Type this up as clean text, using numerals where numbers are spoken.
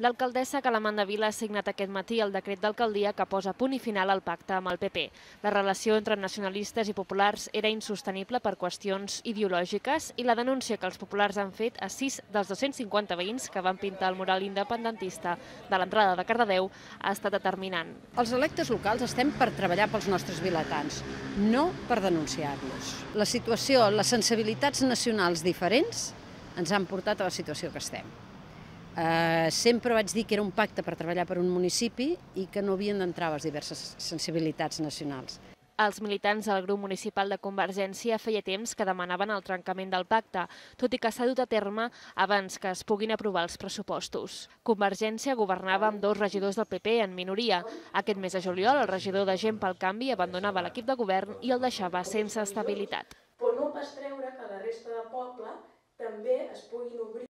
L'alcaldessa Calamanda Vila ha signat aquest matí el decret d'alcaldia que posa punt i final al pacte amb el PP. La relació entre nacionalistes i populars era insostenible per qüestions ideològiques i la denúncia que els populars han fet a 6 dels 250 veïns que van pintar el mural independentista de l'entrada de Cardedeu ha estat determinant. Els electes locals estem per treballar pels nostres vilatans, no per denunciar-los. La situació, les sensibilitats nacionals diferents ens han portat a la situació que estem. Sempre vaig dir que era un pacte per treballar per un municipi i que no havien d'entrar les diverses sensibilitats nacionals. Els militants del grup municipal de Convergència feia temps que demanaven el trencament del pacte, tot i que s'ha dut a terme abans que es puguin aprovar els pressupostos. Convergència governava amb 2 regidors del PP en minoria. Aquest mes de juliol, el regidor de Gent pel Canvi abandonava l'equip de govern i el deixava sense estabilitat. Però no pas treure que la resta de poble també es puguin obrir